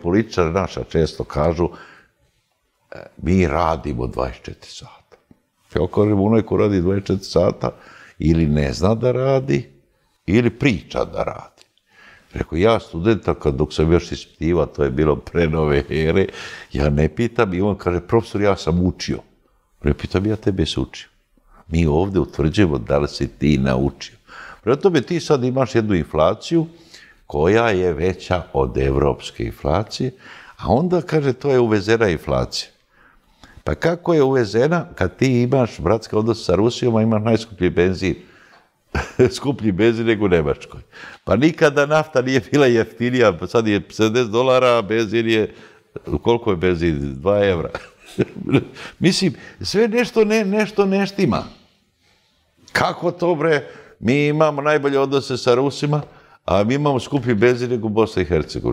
političari naša često kažu mi radimo 24 sata. Ja kažem, onaj ko radi 24 sata ili ne zna da radi, ili priča da radi. Rekao, ja studenta, dok sam još ispitivao, to je bilo pre nove ere, ja ne pitam i on kaže, profesor, ja sam učio. Ne pitam, ja tebe se učio. Mi ovdje utvrđujemo da li si ti naučio. Prema tome, ti sad imaš jednu inflaciju koja je veća od evropske inflacije, a onda, kaže, to je uvezena inflacija. Pa kako je uvezena kad ti imaš bratske odnose sa Rusijom, a imaš najskuplji benzin? Skuplji benzin nego u Nemačkoj. Pa nikada nafta nije bila jeftinija, sad je $70, a benzin je, koliko je benzin? 2 evra. Mislim, sve nešto ne štima. Kako to, bre? Mi imamo najbolje odnose sa Rusima, a mi imamo skuplji benzin nego u Bosni i Hercegovini.